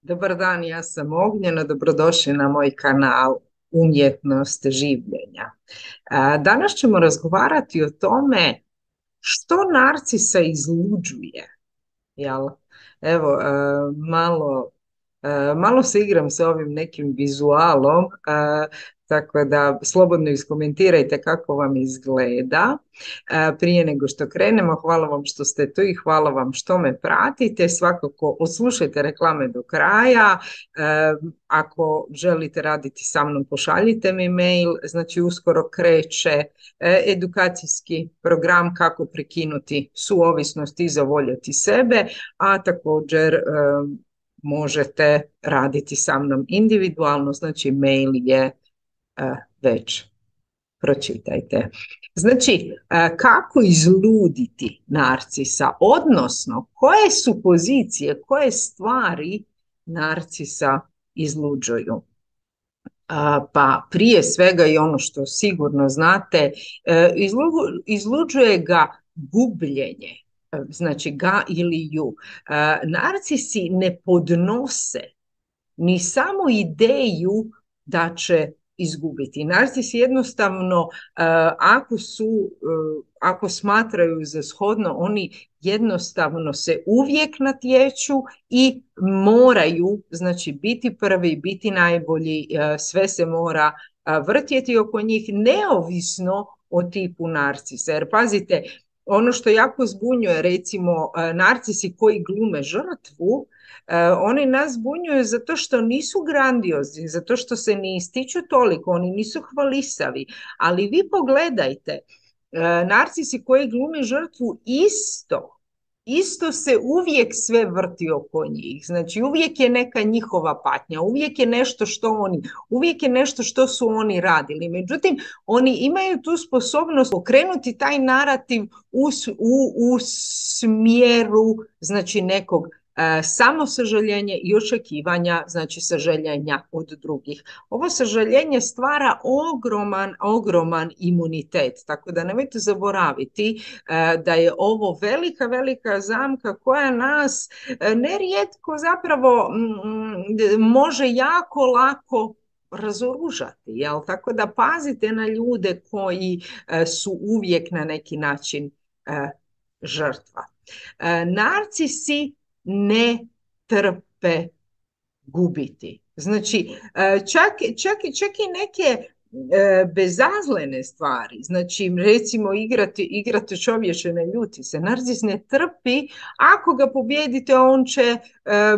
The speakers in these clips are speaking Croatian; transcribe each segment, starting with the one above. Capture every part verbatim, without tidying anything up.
Dobar dan, ja sam Ognjena, dobrodošli na moj kanal Umjetnost življenja. A, Danas ćemo razgovarati o tome što narcisa izluđuje. Jel? Evo, e, malo, e, malo se igram sa ovim nekim vizualom, e, tako da slobodno iskomentirajte kako vam izgleda. E, Prije nego što krenemo, hvala vam što ste tu i hvala vam što me pratite. Svakako odslušajte reklame do kraja. E, Ako želite raditi sa mnom, pošaljite mi mail. Znači, uskoro kreće e, edukacijski program kako prekinuti suovisnost i zavoljeti sebe, a također e, možete raditi sa mnom individualno, znači mail je e, već pročitajte. Znači, e, kako izluditi narcisa, odnosno koje su pozicije, koje stvari narcisa izluđuju. A, Pa prije svega i ono što sigurno znate, e, izlu- izluđuje ga gubljenje, e, znači ga ili ju. E, Narcisi ne podnose ni samo ideju da će izgubiti. Narcisi jednostavno, e, ako su, e, ako smatraju za shodno, oni jednostavno se uvijek natječu i moraju, znači, biti prvi, biti najbolji, e, sve se mora e, vrtjeti oko njih, neovisno o tipu narcisa. Jer pazite, ono što jako zbunjuje, recimo, e, narcisi koji glume žrtvu, Uh, oni nas zbunjuju zato što nisu grandiozni, zato što se ne ističu toliko, oni nisu hvalisavi. Ali vi pogledajte, uh, narcisi koji glume žrtvu isto, isto se uvijek sve vrti oko njih. Znači, uvijek je neka njihova patnja, uvijek je nešto što oni, uvijek je nešto što su oni radili. Međutim, oni imaju tu sposobnost okrenuti taj narativ u, u, u smjeru, znači, nekog E, samo sažaljenje i očekivanja, znači sažaljenja od drugih. Ovo sažaljenje stvara ogroman, ogroman imunitet, tako da nemojte zaboraviti e, da je ovo velika, velika zamka koja nas e, nerijetko zapravo m, može jako lako razoružati, jel? Tako da pazite na ljude koji e, su uvijek na neki način e, žrtva. E, narcisi ne trpe gubiti. Znači, čak, čak, čak i neke e, bezazlene stvari, znači recimo igrati, igrati čovječe ne ljuti se, narcis ne trpi, ako ga pobijedite on će, e,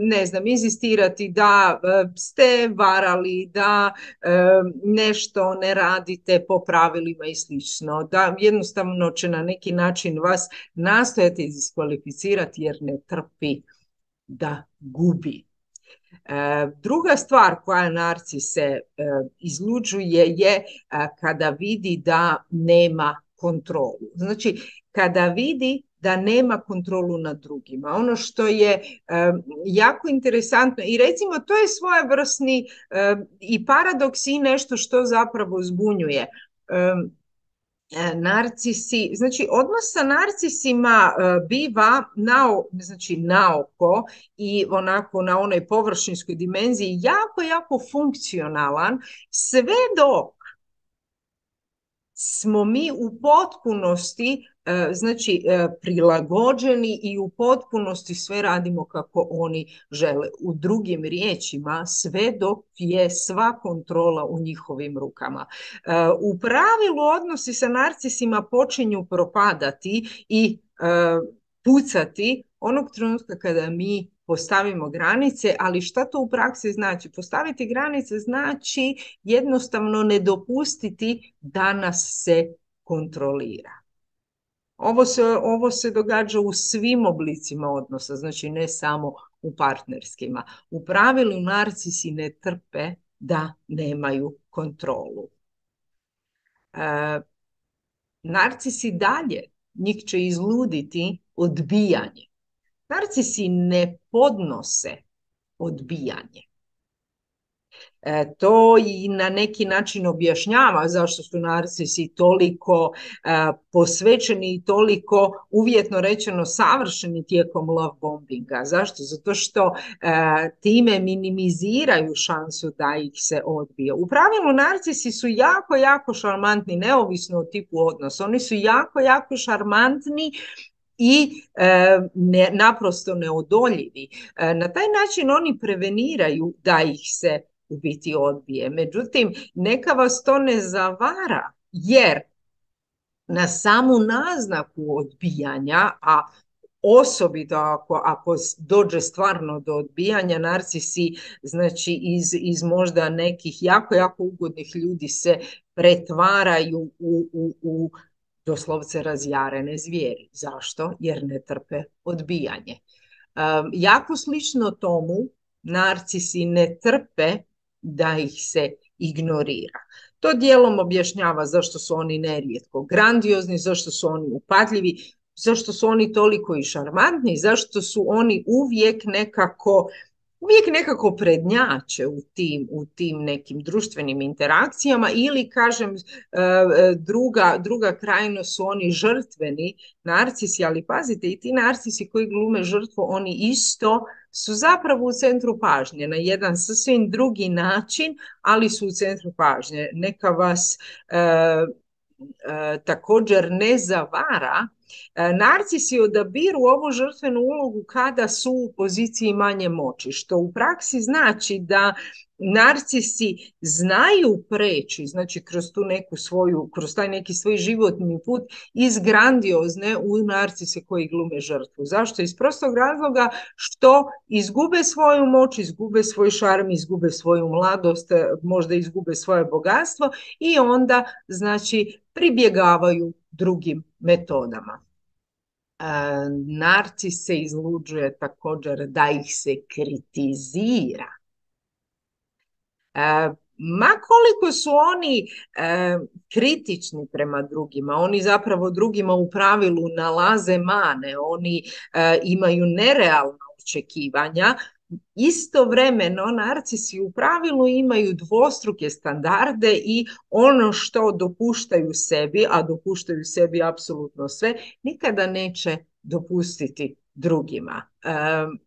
ne znam, inzistirati da e, ste varali, da e, nešto ne radite po pravilima i slično, da jednostavno će na neki način vas nastojati diskvalificirati jer ne trpi da gubi. E, druga stvar koja narcis se e, izluđuje je e, kada vidi da nema kontrolu. Znači, kada vidi da nema kontrolu nad drugima. Ono što je e, jako interesantno i recimo to je svojevrsni e, i paradoks i nešto što zapravo zbunjuje. E, Narcisi, znači odnos sa narcisima uh, biva na, znači, naoko i onako na onoj površinskoj dimenziji jako, jako funkcionalan, sve dok smo mi u potpunosti e, znači e, prilagođeni i u potpunosti sve radimo kako oni žele. U drugim riječima, sve dok je sva kontrola u njihovim rukama. E, u pravilu odnosi sa narcisima počinju propadati i e, pucati onog trenutka kada mi postavimo granice, ali šta to u praksi znači? Postaviti granice znači jednostavno ne dopustiti da nas se kontrolira. Ovo se, ovo se događa u svim oblicima odnosa, znači ne samo u partnerskima. U pravilu narcisi ne trpe da nemaju kontrolu. E, narcisi dalje, njih će izluditi odbijanje. Narcisi ne podnose odbijanje. E, to i na neki način objašnjava zašto su narcisi toliko e, posvećeni i toliko, uvjetno rečeno, savršeni tijekom love bombinga. Zašto? Zato što e, time minimiziraju šansu da ih se odbije. U pravilu narcisi su jako, jako šarmantni, neovisno o tipu odnosa. Oni su jako, jako šarmantni i e, ne, naprosto neodoljivi. E, na taj način oni preveniraju da ih se u biti odbije. Međutim, neka vas to ne zavara, jer na samu naznaku odbijanja, a osobito ako, ako dođe stvarno do odbijanja, narcisi, znači iz, iz možda nekih jako, jako ugodnih ljudi se pretvaraju u, u, u doslovce razjarene zvijeri. Zašto? Jer ne trpe odbijanje. Um, jako slično tomu, narcisi ne trpe da ih se ignorira. To dijelom objašnjava zašto su oni nerijetko grandiozni, zašto su oni upadljivi, zašto su oni toliko i šarmantni, zašto su oni uvijek nekako uvijek nekako prednjače u tim, u tim nekim društvenim interakcijama ili, kažem, druga, druga krajnost su oni žrtveni narcisi, ali pazite, i ti narcisi koji glume žrtvu, oni isto su zapravo u centru pažnje na jedan sasvim drugi način, ali su u centru pažnje. Neka vas e, e, također ne zavara, narcisi odabiru ovu žrtvenu ulogu kada su u poziciji manje moći, što u praksi znači da narcisi znaju preći, znači kroz tu neku svoju, kroz taj neki svoj životni put iz grandiozne u narcise koji glume žrtvu. Zašto? Iz prostog razloga što izgube svoju moć, izgube svoj šarm, izgube svoju mladost, možda izgube svoje bogatstvo i onda, znači, pribjegavaju drugim metodama. E, narcis se izluđuje također da ih se kritizira. E, ma koliko su oni e, kritični prema drugima, oni zapravo drugima u pravilu nalaze mane, oni e, imaju nerealna očekivanja. Istovremeno narcisi u pravilu imaju dvostruke standarde i ono što dopuštaju sebi, a dopuštaju sebi apsolutno sve, nikada neće dopustiti drugima. Um,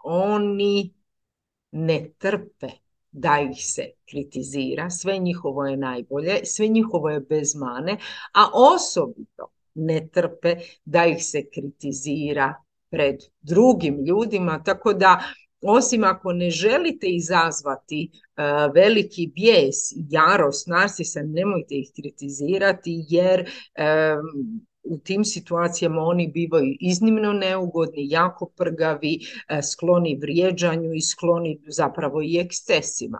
oni ne trpe da ih se kritizira, sve njihovo je najbolje, sve njihovo je bez mane, a osobito ne trpe da ih se kritizira pred drugim ljudima, tako da osim ako ne želite izazvati uh, veliki bijes i jarost narcisa, nemojte ih kritizirati, jer um, u tim situacijama oni bivaju iznimno neugodni, jako prgavi, uh, skloni vrijeđanju i skloni zapravo i ekscesima.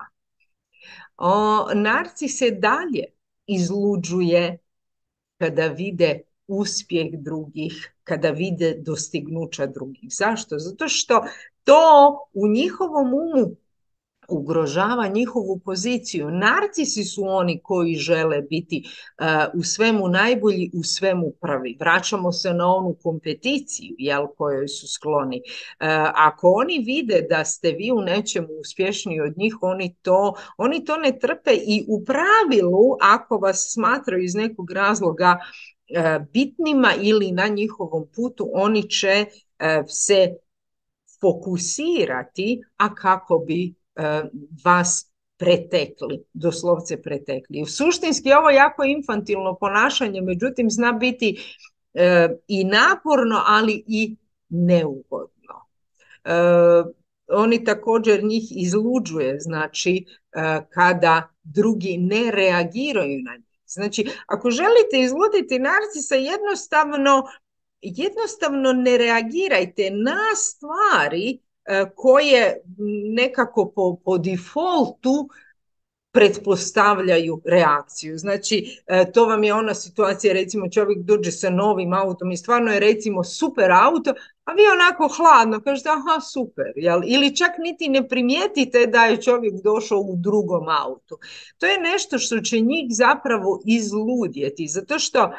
O, narcis se dalje izluđuje kada vide uspjeh drugih, kada vide dostignuća drugih. Zašto? Zato što to u njihovom umu ugrožava njihovu poziciju. Narcisi su oni koji žele biti uh, u svemu najbolji, u svemu prvi. Vraćamo se na onu kompeticiju, jel, kojoj su skloni. Uh, ako oni vide da ste vi u nečemu uspješniji od njih, oni to, oni to ne trpe i u pravilu, ako vas smatraju iz nekog razloga uh, bitnima ili na njihovom putu, oni će uh, se fokusirati, a kako bi vas pretekli, doslovce pretekli. Suštinski ovo je jako infantilno ponašanje, međutim zna biti e, i naporno, ali i neugodno. E, oni također njih izluđuje, znači e, kada drugi ne reagiraju na njih. Znači, ako želite izluditi narcisa, jednostavno, jednostavno ne reagirajte na stvari koje nekako po, po defaultu pretpostavljaju reakciju. Znači, to vam je ona situacija, recimo čovjek dođe sa novim autom i stvarno je recimo super auto, a vi onako hladno kažete aha super, jel? Ili čak niti ne primijetite da je čovjek došao u drugom autu. To je nešto što će njih zapravo izludjeti, zato što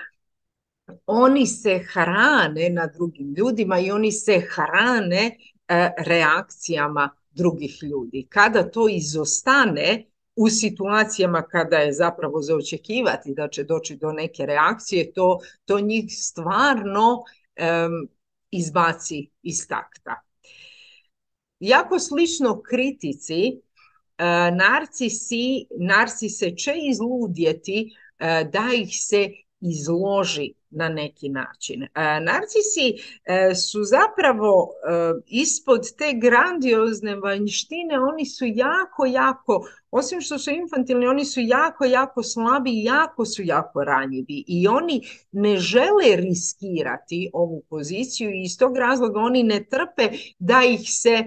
oni se hrane na drugim ljudima i oni se hrane reakcijama drugih ljudi. Kada to izostane u situacijama kada je zapravo za očekivati da će doći do neke reakcije, to, to njih stvarno um, izbaci iz takta. Jako slično kritici, uh, narcisi, narcise će izludjeti uh, da ih se izloži na neki način. Uh, narcisi uh, su zapravo uh, ispod te grandiozne vanjštine, oni su jako, jako, osim što su infantilni, oni su jako, jako slabi i jako su jako ranjivi i oni ne žele riskirati ovu poziciju i iz tog razloga oni ne trpe da ih se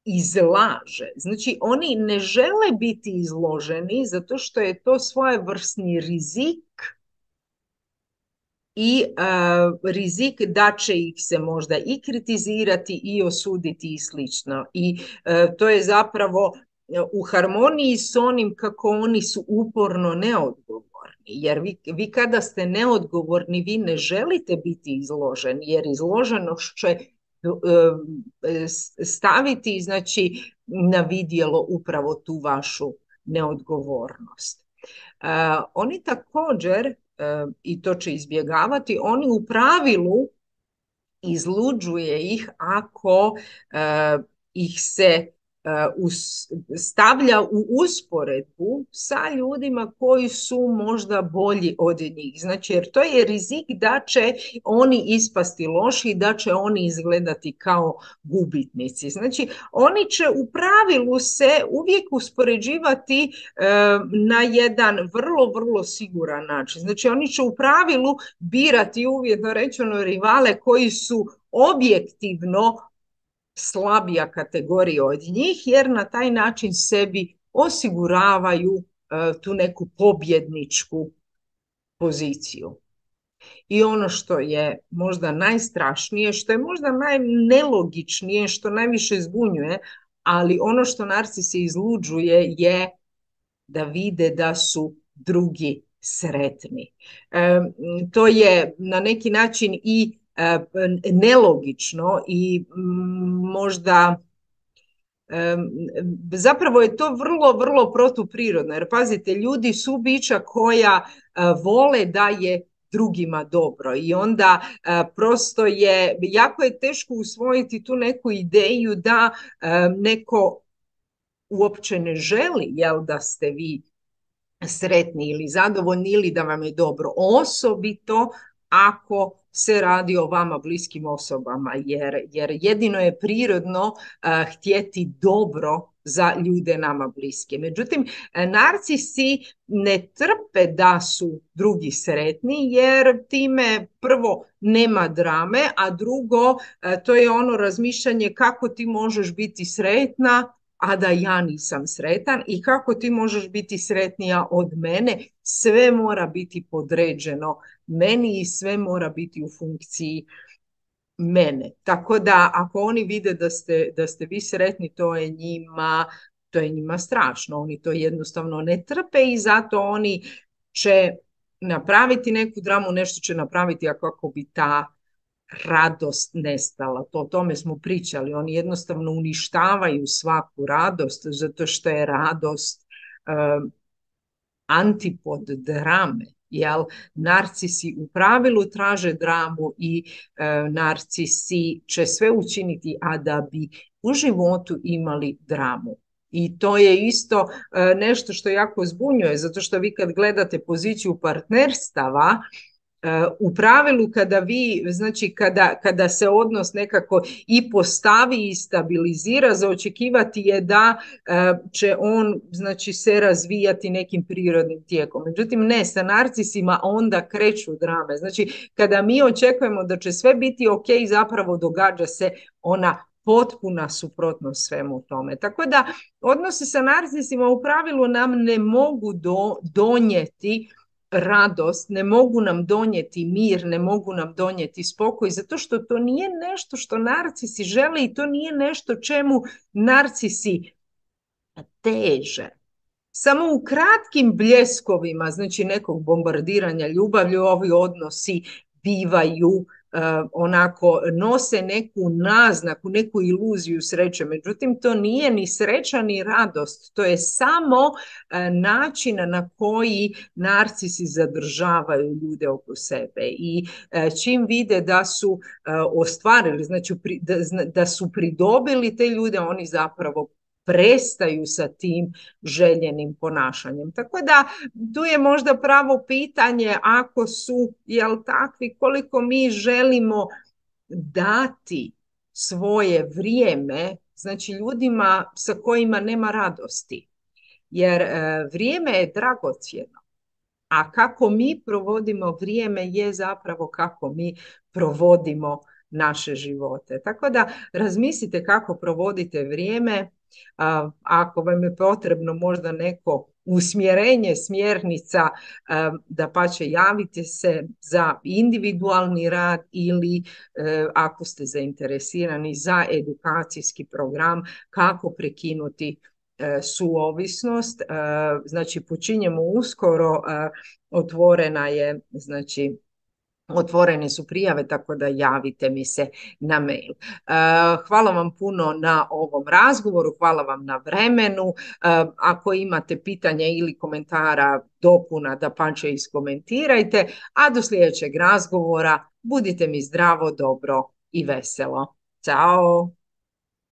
izlaže. Znači, oni ne žele biti izloženi zato što je to svojevrsni rizik i uh, rizik da će ih se možda i kritizirati i osuditi i slično. I uh, to je zapravo u harmoniji s onim kako oni su uporno neodgovorni. Jer vi, vi kada ste neodgovorni, vi ne želite biti izloženi, jer izloženost će staviti, znači, na vidjelo upravo tu vašu neodgovornost. Uh, oni također, uh, i to će izbjegavati, oni u pravilu izluđuje ih ako uh, ih se uh, us, stavlja u usporedbu sa ljudima koji su možda bolji od njih. Znači, jer to je rizik da će oni ispasti loši, da će oni izgledati kao gubitnici. Znači, oni će u pravilu se uvijek uspoređivati uh, na jedan vrlo, vrlo siguran način. Znači, oni će u pravilu birati, uvjetno rečeno, rivale koji su objektivno slabija kategorija od njih, jer na taj način sebi osiguravaju uh, tu neku pobjedničku poziciju. I ono što je možda najstrašnije, što je možda najnelogičnije, što najviše zbunjuje, ali ono što narcisi izluđuje je da vide da su drugi sretni. E, to je na neki način i e, nelogično i možda e, zapravo je to vrlo, vrlo protuprirodno. Jer pazite, ljudi su bića koja e, vole da je drugima dobro i onda e, prosto je, jako je teško usvojiti tu neku ideju da e, neko uopće ne želi, jel, da ste vi sretni ili zadovoljni ili da vam je dobro, osobito ako se radi o vama bliskim osobama, jer, jer jedino je prirodno uh, htjeti dobro za ljude nama bliske. Međutim, narcisi ne trpe da su drugi sretni, jer time prvo nema drame, a drugo, uh, to je ono razmišljanje kako ti možeš biti sretna, a da ja nisam sretan, i kako ti možeš biti sretnija od mene. Sve mora biti podređeno meni i sve mora biti u funkciji mene. Tako da ako oni vide da ste, da ste vi sretni, to je njima, to je njima strašno. Oni to jednostavno ne trpe i zato oni će napraviti neku dramu, nešto će napraviti kako bi ta radost nestala. To, o tome smo pričali. Oni jednostavno uništavaju svaku radost, zato što je radost uh, antipod drame. Jel? Narcisi u pravilu traže dramu i uh, narcisi će sve učiniti, a da bi u životu imali dramu. I to je isto uh, nešto što jako zbunjuje, zato što vi kad gledate poziciju partnerstava, u pravilu kada vi, znači kada, kada se odnos nekako i postavi i stabilizira, za očekivati je da će on, znači, se razvijati nekim prirodnim tijekom. Međutim, ne, sa narcisima onda kreću drame. Znači, kada mi očekujemo da će sve biti ok, zapravo događa se ona potpuna suprotnost svemu tome. Tako da odnosi sa narcisima u pravilu nam ne mogu do, donijeti radost, ne mogu nam donijeti mir, ne mogu nam donijeti spokoj, zato što to nije nešto što narcisi žele i to nije nešto čemu narcisi teže. Samo u kratkim bljeskovima, znači nekog bombardiranja ljubavlju, ovi odnosi bivaju onako nose neku naznaku, neku iluziju sreće. Međutim, to nije ni sreća ni radost. To je samo način na koji narcisi zadržavaju ljude oko sebe. I čim vide da su ostvarili, znači da, da su pridobili te ljude, oni zapravo prestaju sa tim željenim ponašanjem. Tako da tu je možda pravo pitanje, ako su, jel takvi, koliko mi želimo dati svoje vrijeme, znači ljudima sa kojima nema radosti. Jer e, vrijeme je dragocjeno. A kako mi provodimo vrijeme je zapravo kako mi provodimo naše živote. Tako da razmislite kako provodite vrijeme. A, ako vam je potrebno možda neko usmjerenje, smjernica, da pače javite se za individualni rad ili ako ste zainteresirani za edukacijski program kako prekinuti suovisnost. Znači počinjemo uskoro, otvorena je, znači otvorene su prijave, tako da javite mi se na mail. Hvala vam puno na ovom razgovoru, hvala vam na vremenu. Ako imate pitanja ili komentara, dopuna, dapače iskomentirajte, a do sljedećeg razgovora budite mi zdravo, dobro i veselo. Ćao!